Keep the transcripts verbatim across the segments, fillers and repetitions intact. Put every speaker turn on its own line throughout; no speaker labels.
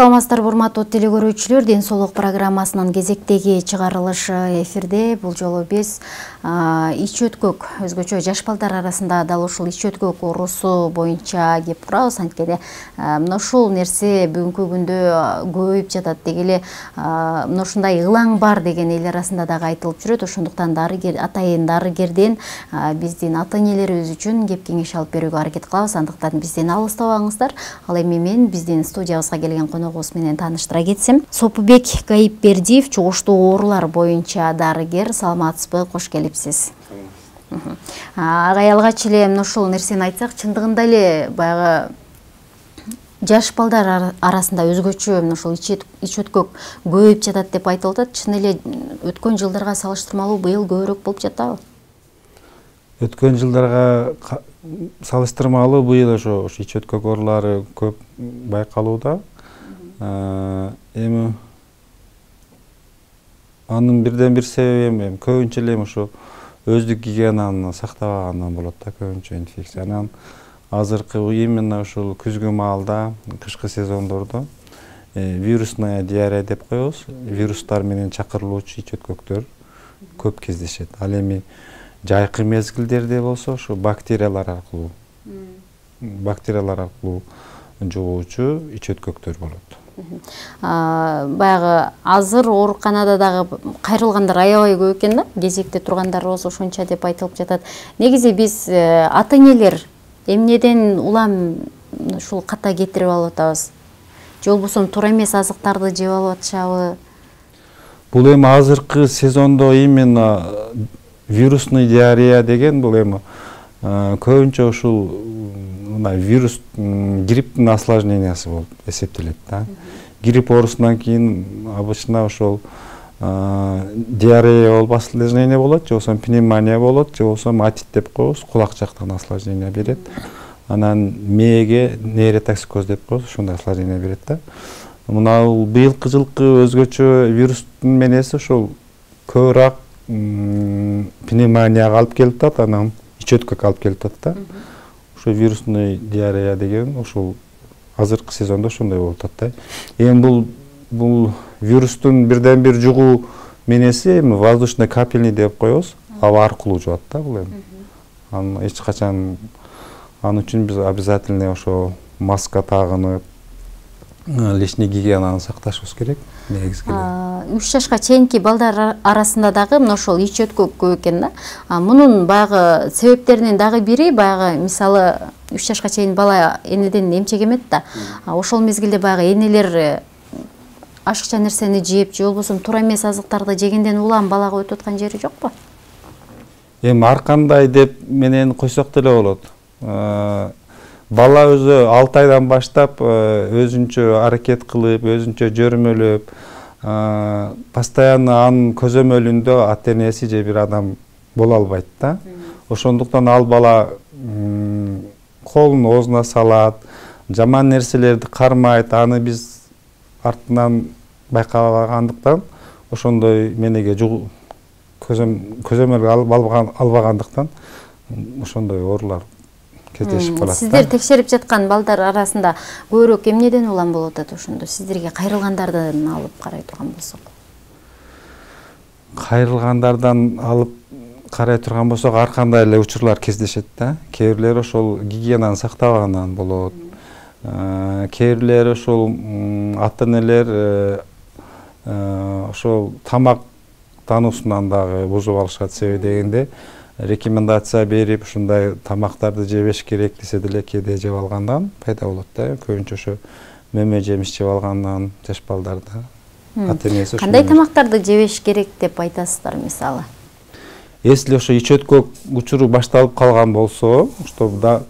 Саламатсыздарбы урматтуу телекөрүүчүлөр, Ден соолук программасынын кезектеги чыгарылышы эфирде. Бул жолу биз ич өткөк, өзгөчө жаш балдар арасында дал ушул ич өткөк оорусу боюнча кеп турабыз. Анткени мына ушул нерсе бүгүнкү күндө көбөйүп жатат деги эле, мына ушундай ылаң бар деген эл арасында дагы айтылып жүрөт. Ошондуктан дарыгер, атайын дарыгерден биздин ата энелерибиз үчүн кеп кеңеш алып берүүгө аракет кылабыз. Андыктан бизден алыстабаңыздар. Ал эми мен биздин студиябызга келген коногубуз менен тааныштыра кетсем. Сопубек Гайипбердиев, чугуштуу оорулар боюнча дарыгер. Саламатсызбы, кош келипсиз. Агай, алгач эле мына ушул нерсени айтсак, чындыгында эле баягы жаш балдар арасында өзгөчө мына ушул ич өткөк көбөйүп жатат деп айтылып атат. Чын эле өткөн жылдарга салыштырмалуу быйыл көбүрөөк болуп жатабы?
Өткөн жылдарга салыштырмалуу быйыл ошо ич өткөк оорулары көп байкалууда. Эми анын бирден бир себеби эми көбүнчө эле ошо өздүк гигиенаны сактабагандан болот да, көбүнчө инфекция. Анан азыркы именно ушул күзгү маалда, кышкы сезондордо вирусная диарея деп коебуз. Вирустар менен чакырылуучу ич өткөктөр көп кездешет. Ал эми жайкы мезгилдерде болсо ошо бактериялар аркылуу бактериялар аркылуу жугуучу ич өткөктөр болот.
Баягы азыр ооруканада дагы кайрылгандар аябай көп экен да, кезекте тургандар болсо ошонча деп айтылып жатат. Негизи биз ата энелер эмнеден улам ушул ката кетирип алып атабыз? Же болбосо туура эмес азыктарды жеп алып атышабы?
Бул эми азыркы сезондо именно вирусный диарея деген бул эми көбүнчө ушул мына вирус грипптин осложнениясы болуп эсептелет да. Грипп оорусунан кийин обычно ошол диарея болуп осложнение болот, же болбосо пневмония болот, же болбосо атит деп коебуз, кулак жактан осложнение берет. Анан мээге нейротоксикоз деп коебуз, ушундай осложнение берет да. Мына быйылкы жылкы өзгөчө вирустун менеси ошол көбүрөөк пневмонияга алып келип атат, анан ич өткөк алып келип атат да. Ошо вирусный диарея деген ошол азыркы сезондо ошондой болуп атат да. Эми бул бул вирустун бирден бир жугуу менеси эми воздушный капельный деп коебуз, аба аркылуу жугат да бул эми. Аны эч качан ал үчүн биз обязательно ошо маска тагынып, личный гигиенаны сакташыбыз керек.
үч жашка чейинки балдар арасында дагы мына ошол ич өткөк көп экен да. Мунун баягы себептеринин дагы бири баягы мисалы үч жашка чейин бала энеден эмчек эмет да. Ошол мезгилде баягы энелер ашыкча нерсени жеп, же болбосо туура эмес азыктарды жегенден улам балага өтүп аткан жери жокпу?
Эми ар кандай деп менен койсок деле болот. Бала өзү алты айдан баштап өзүнчө аракет кылып, өзүнчө жөрмөлөп, постоянно анын көзөмөлүндө ата энеси же бир адам боло албайт да. Ошондуктан ал бала колун оозуна салат, жаман нерселерди кармайт, аны биз артынан байкабагандыктан, ошондой менеге көзөмөлгө албагандыктан ошондой оорулар кездешип калат.
Сиздер текшерип жаткан балдар арасында көбүрөөк эмнеден улам болуп атат ошондо? Сиздерге кайрылгандардан алып карай турган болсок.
Кайрылгандардан алып карай турган болсок, ар кандай эле учурлар кездешет да. Кээ бирлери ошол гигиенаны сактабагандан болот. Кээ бирлери ошол ата энелер ошол тамак тануусунан дагы бузуп алышат. Себеби дегенде рекомендация берип, ушундай тамактарды жебеш керек десе деле кээде жеп алгандан пайда болот да. Көбүнчө ошо мөмө жемиш жеп алгандан жаш балдарда ата энеси
кандай тамактарды жебеш керек деп айтасыздар мисалы?
Если ошо ич өткөк учуру башталып калган болсо, чтобы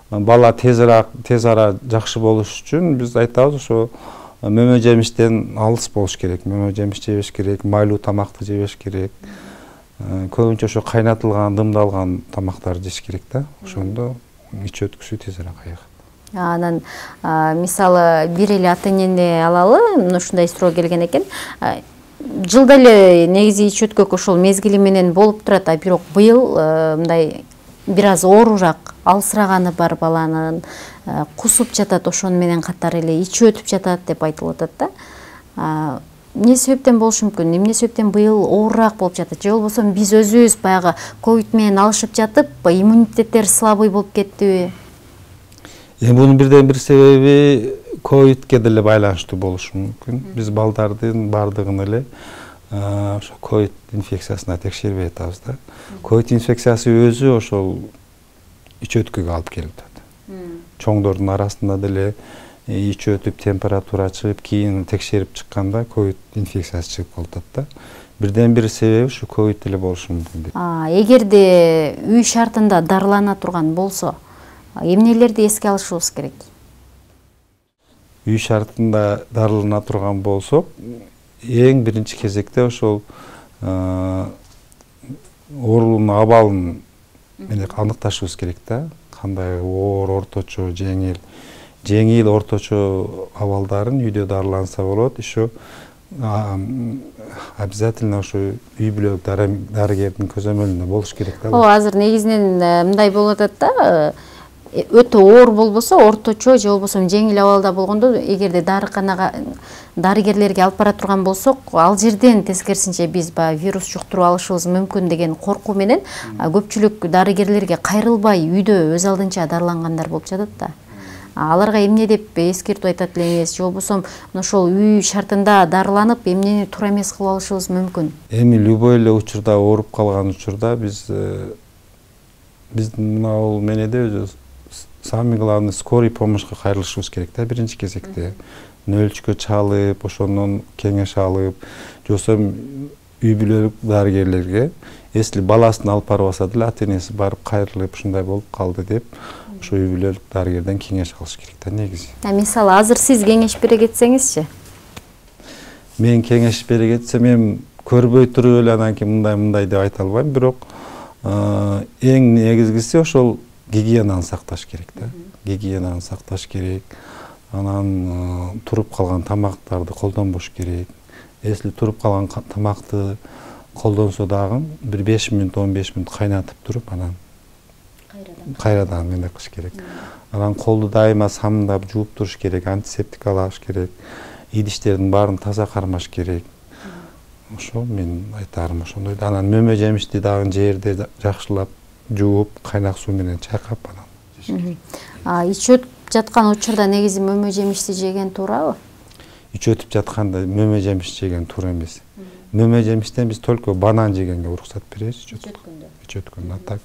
бала тезирээк тез ара жакшы болуш үчүн биз айтабыз ошо мөмө жемиштен алыс болуш керек. Мөмө жемиш жебеш керек, майлуу тамакты жебеш керек. Көбүнчө ошо кайнатылган, дымдалган тамактарды жеш керек да. Ошондо ич өткүсү тез ара кайгат.
Анан мисалы бир эле ата энени алалы, ушундай суроо келген экен. Жылда эле негизи ич өткөк ошол мезгили менен болуп турат, а бирок быйыл мындай бир аз оорураак алсыраганы бар баланын кусуп жатат, ошону менен катар эле ичи өтүп жатат деп айтылып атат да. Эмне себептен болушу мүмкүн? Эмне себептен быйыл оорураак болуп жатат? Же болбосо биз өзүбүз баягы ковид менен алышып жатып, иммунитеттер слабый болуп кеттиби?
Эми бунун бирден бир себеби ковидке деле байланыштуу болушу мүмкүн. Биз балдардын бардыгын эле ошо ковид инфекциясына текшербей атабыз да. Ковид инфекциясы өзү ошол ич өткөгө алып келип атат. Чоңдордун арасында деле ич өтүп температура чыгып, кийин текшерип чыкканда ковид инфекциясы чыгып калып атат да. Бирден бир себеби ушу ковид деле болушу мүмкүн.
Эгерде үй шартында дарылана турган болсо, эмнелерди эске алышыбыз керек?
Үй шартында дарылана турган болсок, эң биринчи кезекте ошол оорунун абалын менен аныкташыбыз керек да. Кандай оор, орточо, жеңил. Жеңил, орточо абалдарын үйдө дарыланса болот. Еще обязательно ошо үй бүлөлүк дарыгердин көзөмөлүндө болуш керек да.
Ооба, азыр негизинен мындай болуп атат да. Өтө оор болбосо, орточо же болбосо жеңил абалда болгондо, эгерде дарыканага дарыгерлерге алып бара турган болсок, ал жерден тескерисинче биз баягы вирус жуктуруп алышыбыз мүмкүн деген коркуу менен көпчүлүк дарыгерлерге кайрылбай үйдө өз алдынча дарылангандар болуп жатат да. Аларга эмне деп эскертип айтат элеңиз? Же болбосо ошол үй шартында дарыланып, эмнени туура эмес кылып алышыбыз мүмкүн?
Эми любой эле учурда ооруп калган учурда биз биздин мына менеде өзү самый главный скорый помощька кайрылышыбыз керек да, биринчи кезекте. Нөлчкө чалып, ошондон кеңеш алып, же болбосо үй бүлөлүк дарыгерлерге, если баласын алып барбаса деле ата-энеси барып кайрылып, ушундай болуп калды деп, ошо үй бүлөлүк дарыгерден кеңеш алыш керек да негизи.
Мисалы, азыр сиз кеңеш бере кетсеңизчи?
Мен кеңеш бере кетсем, эми көрбөй туруп эле анан кийин мындай мындай деп айта албайм, бирок эң негизгиси ошол гигиенаны сакташ керек да. Гигиенаны сакташ керек. Анан туруп калган тамактарды колдонбош керек. Если туруп калган тамакты колдонсо дагы бир беш мүнөт, он беш мүнөт кайнатып туруп, анан кайрадан эмне кылыш керек. Анан колду дайыма самындап жууп туруш керек, антисептик алыш керек. Идиштердин баарын таза кармаш керек. Ошо мен айтарым ошондой. Анан мөмө жемишти дагы жерде жакшылап жууп, кайнак суу менен чайкап анан.
Ич өтүп жаткан учурда негизи мөмө жемишти жеген туурабы?
Ич өтүп жатканда мөмө жемиш жеген туура эмес. Мөмө жемиштен биз только банан жегенге уруксат беребиз. Ич өткөндө. Ич өткөндө. Так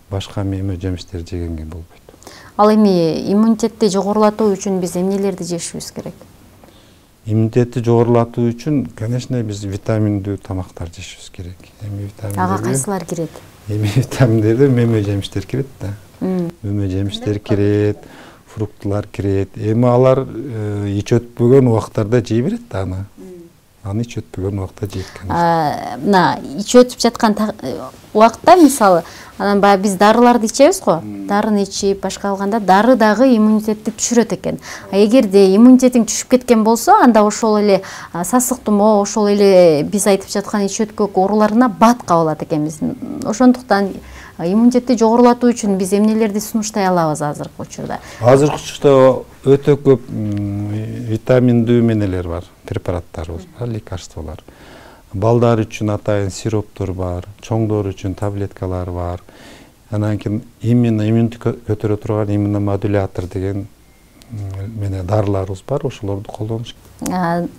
башка мөмө жемиштер жегенге болбойт.
Ал эми иммунитетти жогорулатуу үчүн биз эмнелерди жешибиз керек?
Иммунитетти жогорулатуу үчүн, конечно, биз витаминдүү тамактар жешибиз керек. Эми витаминдер.
Ага кайсылар кирет?
Эми витаминдерде мөмө жемиштер кирет да. Мөмө жемиштер кирет, фруктылар кирет. Эми алар ич өтпөгөн убактарда жей берет да аны. Аны ич өтпөгөн убакта жейт.
Мына ич өтүп жаткан убакта, мисалы, анан баягы биз дарыларды ичебиз го. Дарыны ичип, башка алганда дары дагы иммунитетти түшүрөт экен. Эгерде иммунитетиң түшүп кеткен болсо, анда ошол эле сасык тумоо, ошол эле биз айтып жаткан ич өткөк ооруларына бат кабылат экенбиз. Ошондуктан иммунитетти жогорулатуу үчүн биз эмнелерди сунуштай алабыз азыркы учурда?
Азыркы учурда өтө көп витаминдүү эмнелер бар, препараттарыбыз бар, лекарстволор. Балдар үчүн атайын сироптор бар, чоңдор үчүн таблеткалар бар. Анан кийин именно иммунитет көтөрө турган иммуномодулятор деген менен дарыларыбыз бар, ошолорду колдонуш керек.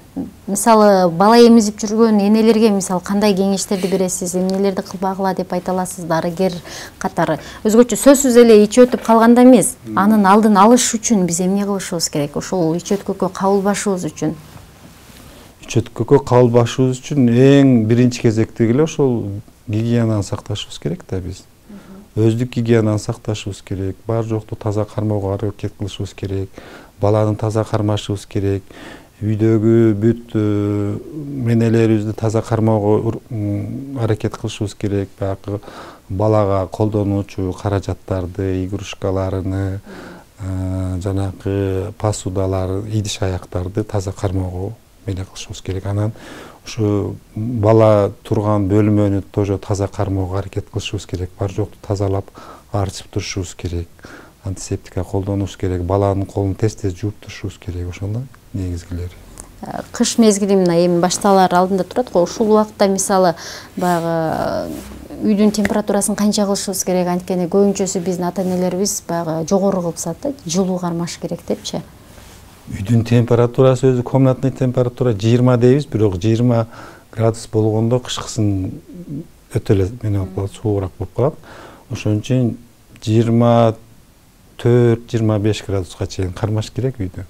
Мисалы, бала эмизип жүргөн энелерге мисалы кандай кеңештерди бересиз, эмнелерди кылбагыла деп айта аласыз дарыгер катары? Өзгөчө сөзсүз эле ич өтүп калганда эмес, анын алдын алыш үчүн биз эмне кылышыбыз керек? Ошол ич өткөккө кабылбашыбыз үчүн.
Ич өткөккө кабылбашыбыз үчүн эң биринчи кезектеги эле ошол гигиенаны сакташыбыз керек да биз. Өздүк гигиенаны сакташыбыз керек, бар жокту таза кармоого аракет кылышыбыз керек, баланы таза кармашыбыз керек, үйдөгү бүт менелерибизди таза кармоого аракет кылышыбыз керек, баягы балага колдонуучу каражаттарды, игрушкаларыны, жанакы посудалар, идиш аяктарды таза кармоого мени кылышыбыз керек. Анан Ушу бала турган бөлмөнү тоже таза кармоого аракет кылышыбыз керек. Бар жокту тазалап арчып турушубуз керек. Антисептика колдонушубуз керек. Баланын колун тез-тез жууп турушубуз керек. Ошондой негизгилери.
Кыш мезгили мына эми башталар алдында турат го. Ушул убакта мисалы баягы үйдүн температурасын канча кылышыбыз керек? Анткени көбүнчөсү биздин ата-энелерибиз баягы жогору кылышат да, жылуу кармаш керек депчи.
Үйдүн температурасы өзү комнатный температура жыйырма дейбиз, бирок жыйырма градус болгондо кышкысын өтө эле менен болуп калат, суугураак болуп калат. Ошон үчүн жыйырма төрт жыйырма беш градуска чейин кармаш керек үйдү.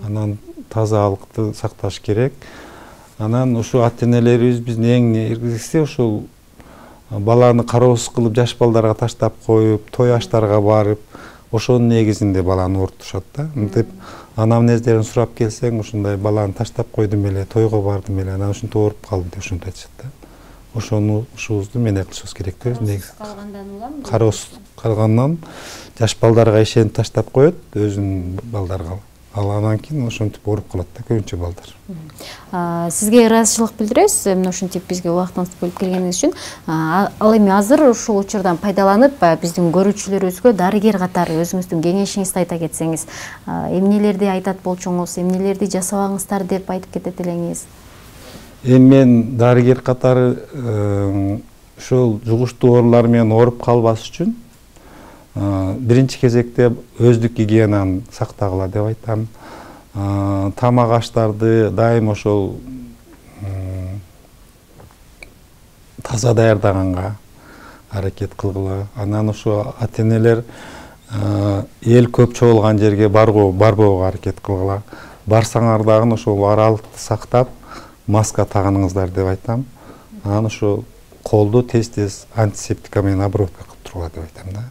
Анан тазалыкты сакташ керек. Анан ушу ата-энелерибиз биздин эң негизгиси ушул баланы кароосуз кылып жаш балдарга таштап коюп, той аштарга барып, ошонун негизинде баланы оорутушат да. Мынтип анамнездерин сурап келсең, ушундай баланы таштап койдум эле, тойго бардым эле, анан ушинтип ооруп калдым деп ушинтип айтышат да. Ошону ушубузду менен кылышыбыз керек да. Негизи
калгандан уламы?
Кароосуз калгандан жаш балдарга ишенип таштап коет, өзүнүн балдарга. Ал анан кийин ошентип ооруп калат да көбүнчө балдар.
Сизге ыраазычылык билдиребиз, мына ушинтип бизге убактыңызды бөлүп келгениңиз үчүн. Ал эми азыр ушул учурдан пайдаланып, биздин көрүүчүлөрүбүзгө дарыгер катары өзүңүздүн кеңешиңизди айта кетсеңиз, эмнелерди айтат болчуңуз, эмнелерди жасабаңыздар деп айтып кетет элеңиз?
Эми мен дарыгер катары ушул жугуштуу оорулар менен ооруп калбас үчүн биринчи кезекте өздүк гигиенаны сактагыла деп айтам. Тамак аштарды дайым ошол таза даярдаганга аракет кылгыла. Анан ошо ата-энелер эл көп чогулган жерге барбоого аракет кылгыла. Барсаңар дагы ошол аралыкты сактап, маска тагыныңыздар деп айтам. Анан ошо колду тез-тез антисептика менен обработка кылып тургула деп айтам да.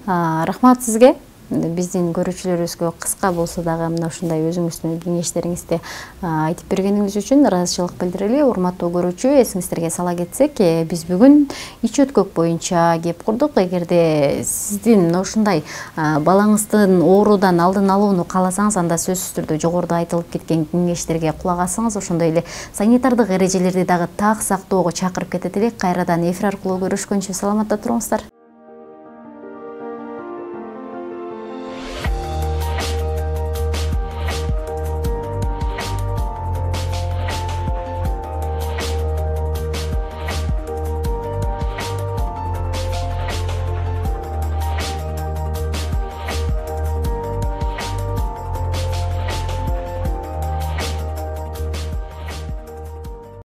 Рахмат сизге. Биздин көрүүчүлөрүбүзгө кыска болсо дагы мына ушундай өзүңүздүн кеңештериңизди айтып бергениңиз үчүн ыраазычылык билдирели. Урматтуу көрүүчү, эсиңиздерге сала кетсек, биз бүгүн ич өткөк боюнча кеп курдук. Эгерде сиздин ушундай балаңыздын оорудан алдын алууну кааласаңыз, анда сөзсүз түрдө жогоруда айтылып кеткен кеңештерге кулак асыңыз. Ошондой эле санитардык эрежелерди дагы так сактоого чакырып кетет элек. Кайрадан эфир аркылуу көрүшкөнчө саламатта туруңуздар.